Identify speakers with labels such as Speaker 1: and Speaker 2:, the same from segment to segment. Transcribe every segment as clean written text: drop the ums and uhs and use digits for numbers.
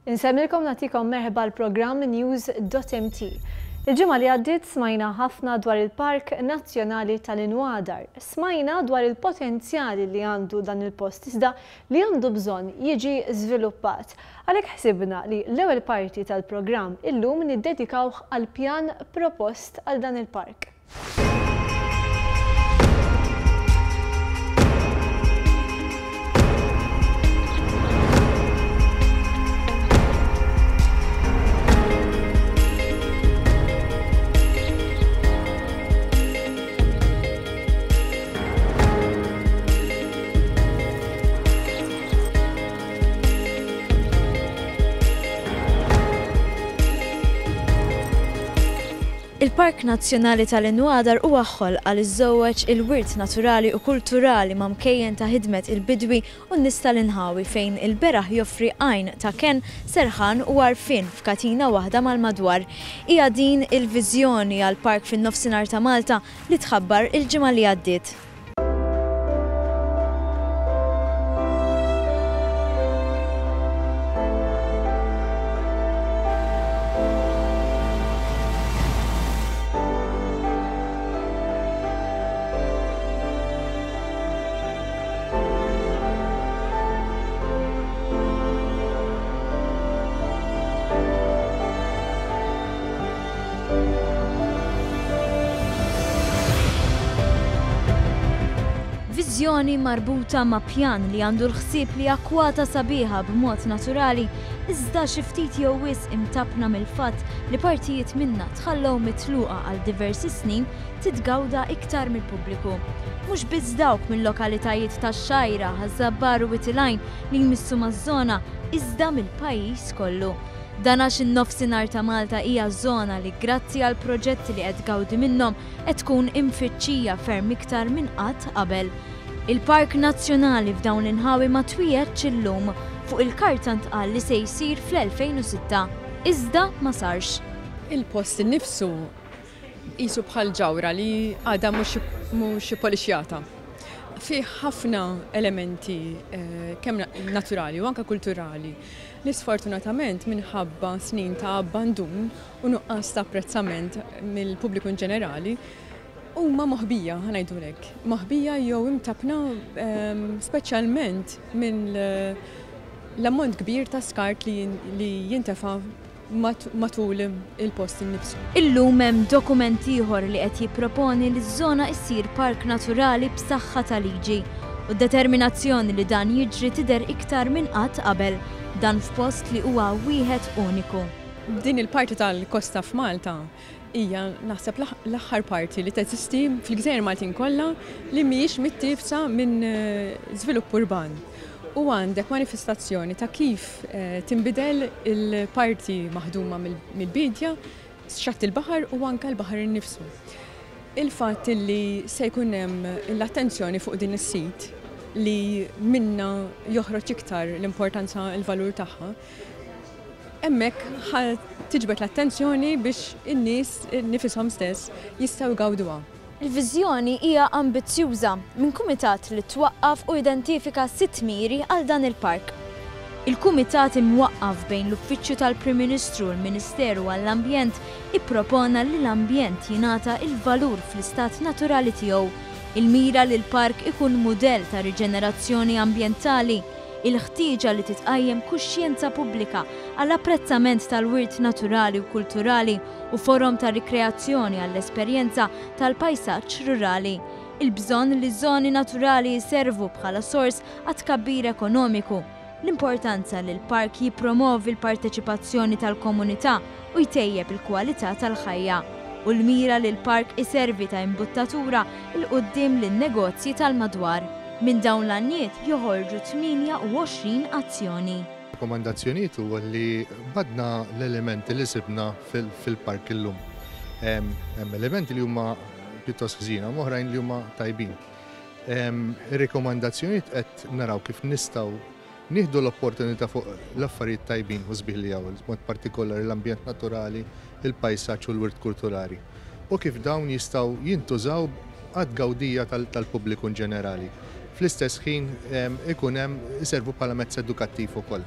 Speaker 1: Insemmilkom nagħtikom merħba l-programm News.mt. Il-ġimgħa li għaddiet smajna ħafna dwar il-Park Nazzjonali tal-Inwadar. Smajna dwar il-potenzjali li għandu dan il-post iżda li għandu bżonn jiġi żviluppat. Għalhekk ħsibna li l-ewwel parti tal-programm illum niddedikawh għall-pjan propost għal dan il-park.
Speaker 2: Il-Park Nazzjonali tal-Inwadar huwa ħolqa li żżewweġ il-wirt naturali u kulturali ma' mkejjen ta' ħidmet il-bidwi u n-nies tal-inħawi fejn il-beraħ joffri għajn ta' kenn, serħan u għarfien f'katina waħda mal-madwar. Hija din il-viżjoni għall-park fin-Nofsinhar ta' Malta li tħabbar il-ġimgħa li għaddiet. Viżjoni marbuta ma' pjan li għandu l-ħsieb li akkwata sabiħa b'mod naturali, iżda xi ftit jew wisq imtappna mill-fatt li partijiet minnha tħallew mitluqa għal diversi snin titgawda iktar mill-pubbliku. Mhux biss dawk mil-lokalitajiet tax-Xgħajra, Ħaż-Żabbar u Wied il-Għajn li jmissu maż-żona, iżda mill-pajjiż kollu. Dan għax in-Nofsinhar ta' Malta hija żona li grazzi għall-proġetti li qed tgawdi minnhom qed tkun imfittxija ferm iktar minn qatt qabel. Il-Park Nazzjonali f'dawn l-inħawi ma twiegħedx illum. Fuq il-karta ntqal li se jsir fl-2006. Iżda ma sarx.
Speaker 3: Il-post innifsu qisu bħal ġawhra li għadha mhux ippolixjata. Fih ħafna elementi kemm naturali u anke kulturali li sfortunatament minħabba snin ta' abbandun u nuqqas ta' apprezzament mill-pubbliku in ġenerali huma moħbija, ħa ngħidu hekk, moħbija jew imtappna speċjalment minn l-ammont kbir ta' skart li jintefa' matul il-post innifsu.
Speaker 2: Illum hemm dokument ieħor li qed jipproponi li ż-żona issir park naturali b'saħħa ta' liġi. U d-determinazzjoni li dan jiġri tidher iktar minn qatt qabel. Dan f'post li huwa wieħed uniku.
Speaker 3: Din il-parti tal-kosta f'Malta hija naħseb l-aħħar parti li teżisti fil-gżejjer Maltin kollha li mhijiex mittiefsa minn żvilupp urban. U għandek manifestazzjoni ta' kif tinbidel il-parti maħduma mill-biedja, xatt il-baħar u anke l-baħar innifsu. Il-fatt li se jkun hemm l-attenzjoni fuq din is-sit li minna joħroġ iktar l-importanza l-valur tagħha, hemmhekk ħa tiġbed l-attenzjoni biex in-nies nifishom stess jistgħu jgawduha.
Speaker 2: Il-viżjoni hija ambizzjuża minn kumitat li twaqqaf u identifika sitt miri għal dan il-park. Il-kumitat imwaqqaf bejn l-Uffiċċju tal-Prim Ministru u l-Ministeru għall-Ambjent ippropona li l-ambjent jingħata il-valur fl-istat naturali tiegħu. Il-mira li l-park ikun mudell ta' riġenerazzjoni ambjentali, il-ħtieġa li titqajjem kuxjenza pubblika għal apprezzament tal-wirt naturali u kulturali u forom ta' rikreazzjoni għall-esperjenza tal-pajsaġġ rurali, il-bżonn li żoni naturali jservu bħala sors għat-tkabbir ekonomiku, l-importanza li l-park jippromovi l-parteċipazzjoni tal-komunità u jtejjeb il-kwalità tal-ħajja, u l-mira li l-park iservi ta' imbuttatura 'l quddiem lin-negozji tal-madwar. Minn dawn l-għanjiet joħorġu 28 azzjoni.
Speaker 4: Rakkomandazzjonijiet huwa li badna l-elementi li sibna fil-park illum. Hemm elementi li huma pjuttost ħżiena, hemm oħrajn li huma tajbin. Ir-rikomandazzjonijiet qed naraw kif nistgħu nieħdu l-opportunità fuq l-affarijiet tajbin u sbieħ li hawn, b'mod partikolari l-ambjent naturali, il-pajsaġġ u l-wirt kulturali, u kif dawn jistgħu jintużaw għat-tgawdija tal-pubbliku in ġenerali. Fl-istess ħin ikun hemm iservu bħala mezz edukattiv ukoll.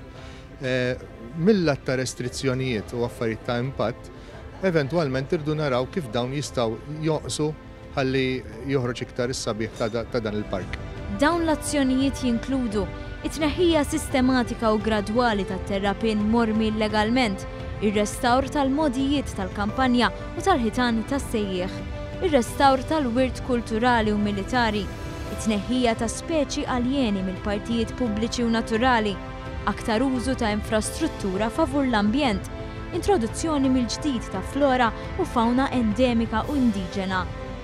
Speaker 4: Mil-lat ta' restrizzjonijiet u affarijiet ta' impatt, eventwalment irridu naraw kif dawn jistgħu jonqsu ħalli joħroġ iktar is-sabiħ ta' dan il-park.
Speaker 2: Dawn l-azzjonijiet jinkludu it-tneħħija sistematika u gradwali tat-terrapien mormi illegalment, ir-restawr tal-mogħdijiet tal-kampanja u tal-ħitan tas-sejjieħ, ir-restawr tal-wirt kulturali u militari, it-tneħħija ta' speċi aljeni mill-partijiet pubbliċi u naturali, aktar użu ta' infrastruttura favur l-ambjent, introduzzjoni mill-ġdid ta' flora u fawna endemika u indiġena.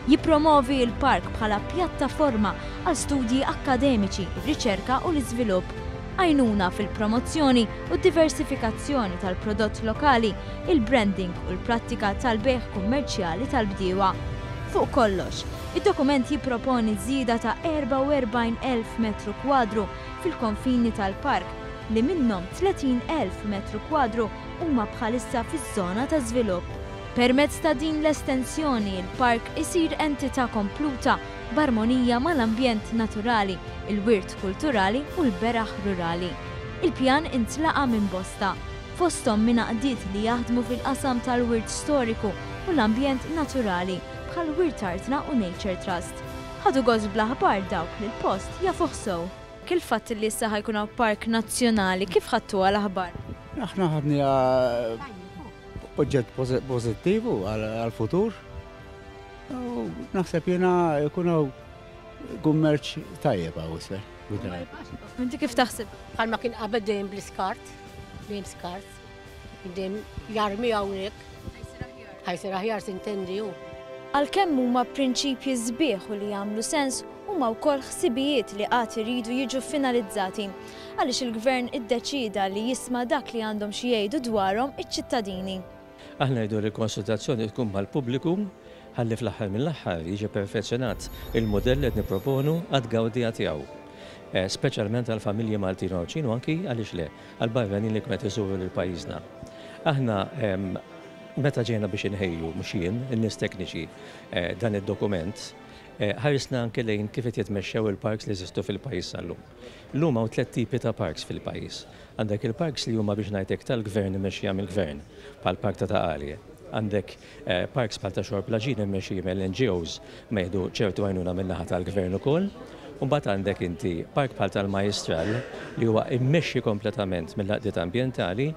Speaker 2: Jippromovi l-park bħala pjattaforma għal studji akkademiċi, ir-riċerka u l-iżvilupp, għajnuna fil-promozzjoni u d-diversifikazzjoni tal-prodott lokali, il-branding u l-prattika tal-bejgħ kummerċjali tal-bdiewa. Fuq kollox, id-dokument jipproponi żieda ta' 44,000 metru kwadru fil-konfini tal-park, li minnhom 30,000 metru kwadru huma bħalissa fiż-żona ta' żvilupp. Permezz ta' din l-estensjoni, il-park isir entità kompluta b'armonija mal-ambjent naturali, il-wirt kulturali u l-beraħ rurali. Il-pjan intlaqa' minn bosta, fosthom minn għaqdiet li jaħdmu fil-qasam tal-wirt storiku u l-ambjent naturali bħal Wirt Artna u Nature Trust. Ħadu gost bl-aħbar dawk li l-post jafuh sew. Il-fatt li issa ħa jkun hawn park nazzjonali, kif ħadtuha l-aħbar?
Speaker 5: Aħna ħadniha oġġett pożittiv għall-futur. U naħseb jiena jkun hawn kummerċ tajjeb hawn isfel.
Speaker 2: Inti kif taħseb?
Speaker 6: Bħalma kien qabel dejjem bl-iskart, dejjem skart, dejjem jarmi hawnhekk. Ħajsir aħjar sintendi hu.
Speaker 2: Għalkemm huma prinċipji sbieħ u li jagħmlu sens, huma wkoll ħsibijiet li għad iridu jiġu finalizzati. Għaliex il-Gvern iddeċieda li jisma' dak li għandhom xi jgħidu dwarhom iċ-ċittadini.
Speaker 7: Aħna rridu li l-konsultazzjoni tkun mal-pubbliku ħalli fl-aħħar mill-aħħar jiġi perfezzjonat il-mudell li qed nipproponu għat-tgawdija tiegħu. Speċjalment għall-familji Maltin u Għawdxin u anki, għaliex le, għall-barranin li jkunu qed iżuru lil pajjiżna. Aħna meta ġejna biex inħejju, mhux jien, in-nies tekniċi, dan id-dokument, ħarisna anki lejn kif qed jitmexxew il-parks li jeżistu fil-pajjiż sal-lum. Illum hawn tlett tipi ta' parks fil-pajjiż. Għandek il-parks li huma biex ngħid hekk tal-gvern immexxija mill-gvern, bħall-Park ta' Ta' Qali. Għandek parks bħal ta' Xorb l-Għaġin immexxija mill-NGOs ma jieħdu ċertu għajnuna min-naħa tal-gvern ukoll. U mbagħad għandek inti park bħal tal-Majjistral li huwa immexxi kompletament mill-għaqdiet ambjentali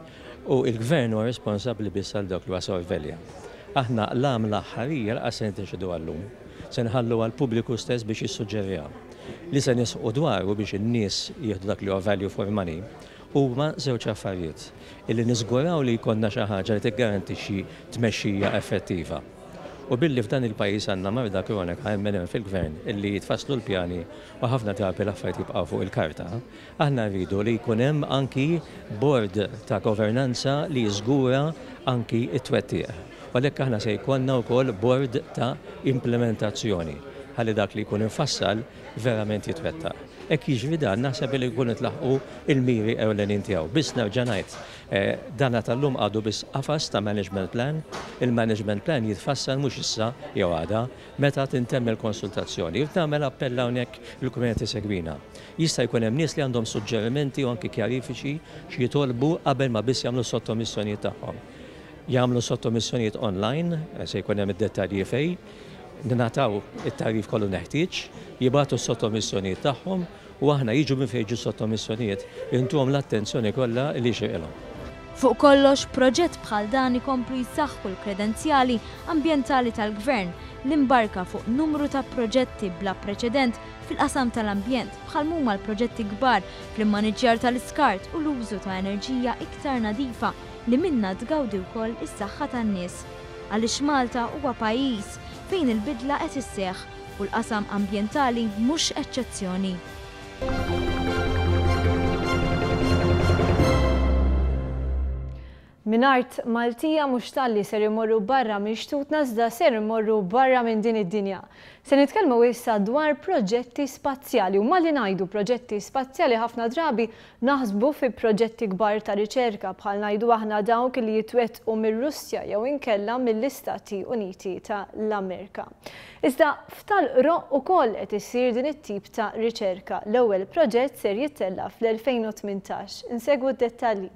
Speaker 7: u l-gvern huwa responsabbli biss għal dak li huwa sorvelja. Aħna l-għamla aħħarija lanqas se niddeċiduha llum. Se nħalluha għall-pubbliku stess biex jissuġġeriha. Li se nisħqu dwaru biex in-nies jieħdu dak li huwa value for money huma żewġ affarijiet. Illi niżguraw li jkollna xi ħaġa li tiggarantixxi tmexxija effettiva. U billi f'dan il-pajjiż għandna marda kronika hemm min hemm fil-gvern illi jitfasslu l-pjani u ħafna drabi l-affarijiet jibqgħu fuq il-karta, aħna rridu li jkun hemm anki bord ta' governanza li jiżgura anki t-twettiq. U għalhekk aħna se jkollna wkoll bord ta' implimentazzjoni ħalli dak li jkun imfassal verament jitwettaq. Hekk jiġri dan naħseb li jkunu ntlaħqu l-miri ewlenin tiegħu. Biss nerġa' ngħid, dana tal-lum għadu biss qafas ta' management plan. Il-management plan jitfassal mhux issa jew għada, meta tintemm il-konsultazzjoni. Irrid nagħmel appell hawnhekk lil kull min qed isegwina. Jista' jkun hemm nies li għandhom suġġerimenti u anki kjarifiċi x'jitolbu qabel ma biss jagħmlu s-sottomissjonijiet tagħhom. Jagħmlu sottomissjonijiet online, se jkun hemm id-dettalji fejn. Ningħataw it-tagħrif kollu neħtieġ, jibagħtu s-sottomissjonijiet tagħhom u aħna jiġu minn fejn jiġu s-sottomissjonijiet, intuhom l-attenzjoni kollha li jixirqilhom.
Speaker 2: Fuq kollox, proġett bħal dan ikomplu jsaħħu l-kredenzjali ambjentali tal-Gvern li mbarka fuq numru ta' proġetti bla preċedent fil-qasam tal-ambjent bħal m'huma l-proġetti kbar fl-immaniġġjar tal-iskart u l-użu ta' enerġija iktar nadifa li minnha tgawdi wkoll is-saħħa tan-nies. Għaliex Malta huwa pajjiż fejn il-bidla qed isseħħ u l-qasam ambjentali mhux eċċezzjoni.
Speaker 1: Minn art Maltija mhux talli ser immorru barra minn xtutna iżda ser immorru barra minn din id-dinja. Se nitkellmu issa dwar proġetti spazjali u malli ngħidu proġetti spazjali ħafna drabi naħsbu fi proġetti kbar ta' riċerka bħal ngħidu aħna dawk li jitwettqu mir-Russja jew inkella mill-Istati Uniti ta' l-Amerika. Iżda f'Tal-Qroqq ukoll qed issir din it-tip ta' riċerka. L-ewwel proġett ser jittella' fl-2018. Insegwu d-dettalji.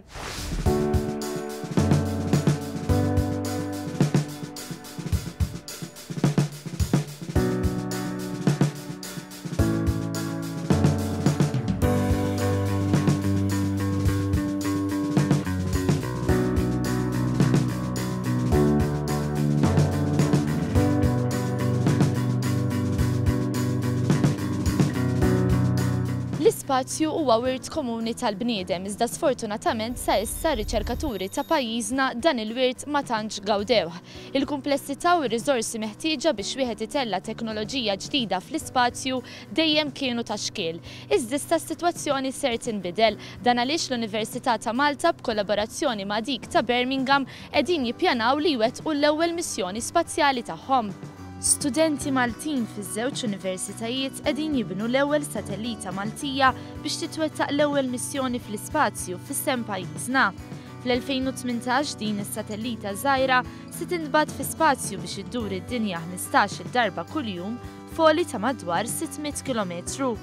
Speaker 8: L-ispazju huwa wirt komuni tal-bniedem iżda sfortunatament sa issa r-riċerkaturi ta' pajjiżna dan il-wirt ma tantx gawdewh. Il-kumplessità u r-riżorsi meħtieġa biex wieħed itella' teknoloġija ġdida fl-ispazju dejjem kienu ta' xkiel. Iżda issa s-sitwazzjoni ser tinbidel. Dan għaliex l-Università ta' Malta b'kollaborazzjoni ma' dik ta' Birmingham qegħdin jippjanaw li jwettqu l-ewwel missjoni spazjali tagħhom. Studenti Maltin fiż-żewġ universitajiet qegħdin jibnu l-ewwel satellita Maltija biex titwettaq l-ewwel missjoni fl-ispazju f'isem pajjiżna. Fl-2018 din is-satellita żgħira se tintbagħat fi spazju biex iddur id-dinja 15-il darba kuljum f'għoli ta' madwar 600 kilometru.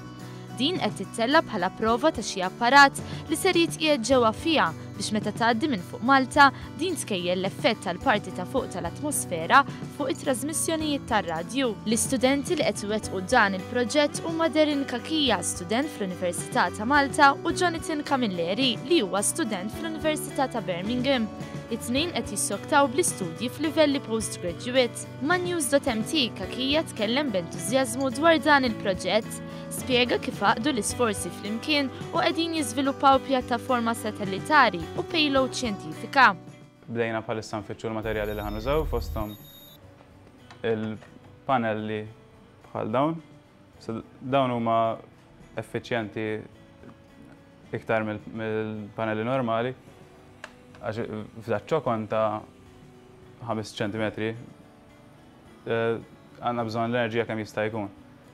Speaker 8: Din qed tittella' bħala prova ta' xi apparat li ser jitqiegħed ġewwa fiha biex meta tgħaddi minn fuq Malta, din tkejjel l-effett tal-parti ta' fuq tal-atmosfera fuq it-trażmissjonijiet tar-radju. L-istudenti li qed iwettqu dan il-proġett huma Derin Cachia, student fl-Università ta' Malta u Jonathan Camilleri li huwa student fl-Università ta' Birmingham. It-tnejn qed jissoktaw bl-istudji f'livelli postgraduate. Ma' News.mt, Cachia tkellem b'entużjażmu dwar dan il-proġett. Spjega kif għaqdu l-isforzi flimkien u qegħdin jiżviluppaw pjattaforma satellitari u payload xjentifika.
Speaker 9: Bdejna bħalissa nfittxu l-materjali li ħa nużaw fosthom il-panelli bħal dawn. So, dawn huma effiċjenti iktar mill-panelli normali għax f'daċ-ċokon ta' 5 ċentimetri Għandna bżonn l-enerġija kemm jista' jkun.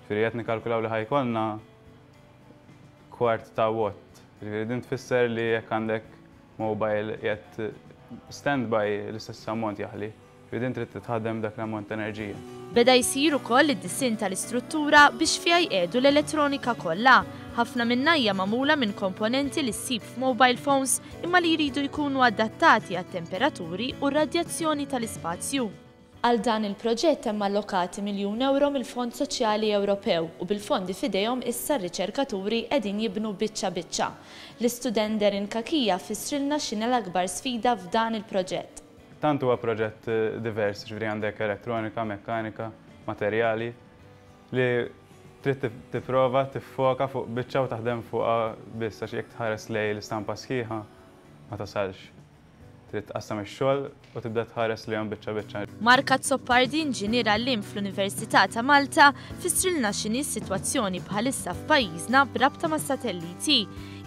Speaker 9: Ġifieri qed nikkalkulaw li ħa jkollna kwart ta' watt. Ġifieri din tfisser li jekk għandek mobile qiegħed standby l-istess ammont jaħli. Ġifieri din trid titħaddem b'dak l-ammont ta' enerġija.
Speaker 8: Beda jsir ukoll id-disinn tal-istruttura biex fiha jqiegħdu l-elettronika kollha. Ħafna minnha hija magħmula minn komponenti li ssib f'mobile phones imma li jridu jkunu adattati għat-temperaturi u r-radjazzjoni tal-ispazju. Għal dan il-proġett hemm allokati miljun ewro mill-Fond Soċjali Ewropew u bil-fondi f'idejhom issa r-riċerkaturi qegħdin jibnu biċċa biċċa. L-istudent Darren Cachia fissrilna x'inhi l-akbar sfida f'dan il-proġett.
Speaker 9: Tant huwa proġett divers, jiġifieri għandek elettronika, mekkanika, materjali, li trid tipprova tiffoka fuq biċċa u taħdem fuqha biss għax jekk tħares lejn l-istampa sħiħa ma tasalx. Trid tqassam ix-xogħol u tibda tħares lejhom biċċa biċċa.
Speaker 8: Mark Azzopardi, inġinier għalliem fl-Università ta' Malta, fissrilna x'inhi s-sitwazzjoni bħalissa f'pajjiżna b'rabta mas-satelliti.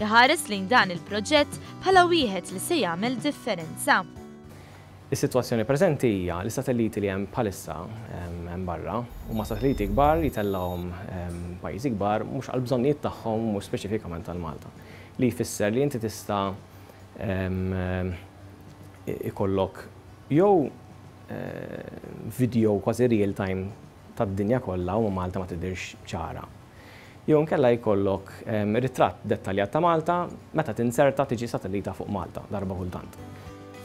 Speaker 8: Iħares lejn dan il-proġett bħala wieħed li se jagħmel differenza.
Speaker 10: Is-sitwazzjoni preżenti hija li s-satelliti li hemm bħalissa hemm barra huma satelliti kbar jtellgħuhom pajjiżi kbar mhux għall-bżonnijiet tagħhom u mhux speċifikament għal Malta. Li jfisser li inti tista' ikollok jew video kważi real time tad-dinja kollha u Malta ma tidhirx ċara. Jew inkella jkollok ritratt dettaljat ta' Malta meta tinzerta tiġi satellita fuq Malta darba kultant.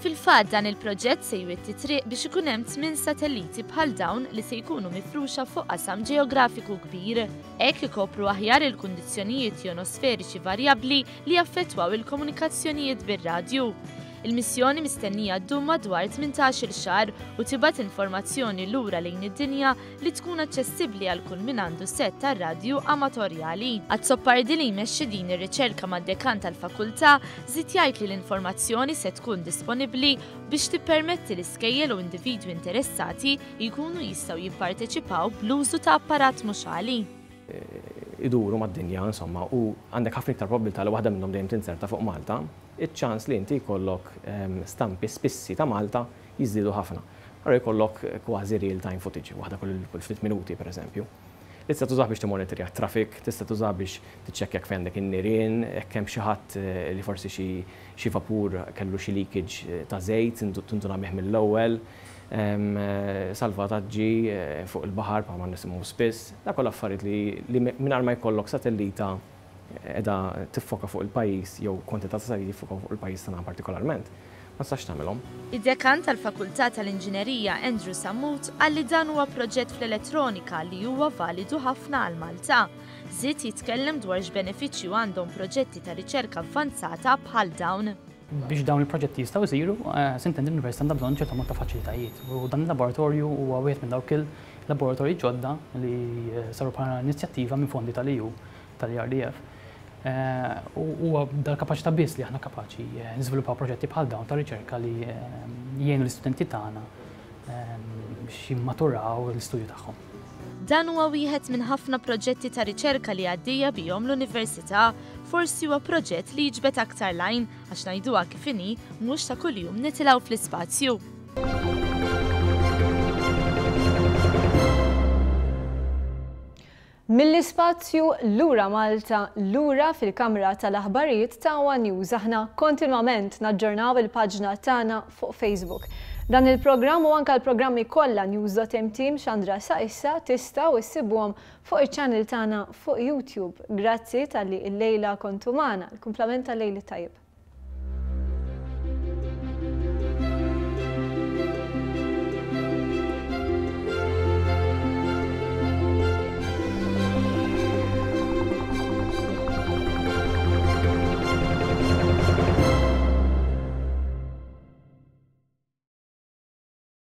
Speaker 8: Fil-fatt dan il-proġett se jwitti t-triq biex ikun hemm tminn satelliti bħal dawn li se jkunu mifruxa fuq qasam ġeografiku kbir. Hekk ikopru aħjar il-kundizzjonijiet jonosferiċi varjabbli li jaffettwaw il-komunikazzjonijiet bir-radju. Il-missjoni mistennija ddum madwar 18-il xahar u tibgħat informazzjoni lura lejn id-dinja li tkun aċċessibbli għal kull min għandu sett tar-radju amatorjali. Azzopardi li jmexxi din ir-riċerka mad-dekan tal-fakultà żied jgħid li l-informazzjoni se tkun disponibbli biex tippermetti li skejjel u individwi interessati jkunu jistgħu jipparteċipaw bl-użu ta' apparat mhux għali.
Speaker 10: iduru mad-dinja insomma u għandek ħafna iktar probbiltà li waħda minnhom dejjem tinzerta fuq Malta, iċ-ċans li inti jkollok stampi spissi ta' Malta jiżdiedu ħafna. Allura jkollok kważi real time footage, waħda kull ftit minuti pereżempju. Li tista' tużah biex timmonitorja t-traffic, tista' tużah biex tiċċekkja jekk fejn għandek in-nirien, jekk hemm xi ħadd li forsi xi xi vapur kellu xi leakage ta' żejt tinduna bih mill-ewwel, salvataġġi fuq il-baħar bħalma nisimgħu spiss. Dak kollha affarijiet li mingħajr ma jkollok satellita qiegħda tiffoka fuq il-pajjiż jew kwantità ta' satelliti jiffokaw fuq il-pajjiż tagħna partikolarment, ma tistax tagħmilhom.
Speaker 8: Id-Dekan tal-Fakultà tal-Inġinerija Andrew Sammut qal li dan huwa proġett fl-elettronika li huwa validu ħafna għal Malta. Żied jitkellem dwar x'benefiċċju għandhom proġetti ta' riċerka avvanzata bħal dawn.
Speaker 11: Biex dawn il-proġetti jistgħu jsiru, sintendi l-Università għandha bżonn ċertu ammont ta' faċilitajiet u dan il-laboratorju huwa wieħed minn dawk il-laboratorji ġodda li saru bħala inizjattiva minn fondi tal-EU, tal-ERDF. U huwa dal-kapaċità biss li aħna kapaċi niżviluppaw proġetti bħal dawn ta' riċerka li jgħinu l-istudenti tagħna biex jimmaturaw l-istudju tagħhom.
Speaker 8: Dan huwa wieħed minn ħafna proġetti ta' riċerka li għaddejja bihom l-Università. Forsi huwa proġett li jiġbed aktar l-għajn għax ngħiduha kif inhi, mhux ta' kuljum nitilgħu fl-ispazju.
Speaker 1: Mill-ispazju lura Malta, lura fil-kamra tal-aħbarijiet ta' one News. Aħna kontinwament naġġornaw il-paġna tagħna fuq Facebook. Dan il-programm u anke l-programmi kollha News.mt mxandra sa issa tistgħu issibuhom fuq iċ-channel tagħna fuq YouTube. Grazzi talli illejla kontu magħna. Il-kumplament tal-lejl it-tajjeb.